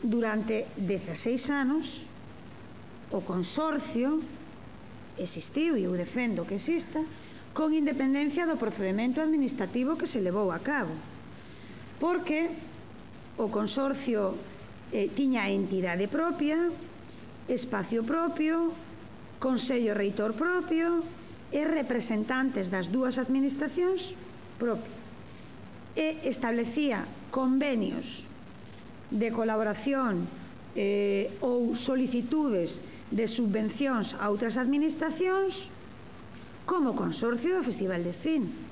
durante 16 anos, o consorcio existiu, e eu defendo que exista, con independencia do procedimento administrativo que se levou a cabo. Porque o consorcio tiña entidade propia, espacio propio, consello reitor propio e representantes das dúas administracións propio. E establecía convenios de colaboración ou solicitudes de subvencións a outras administracións como consorcio do Festival de Cine.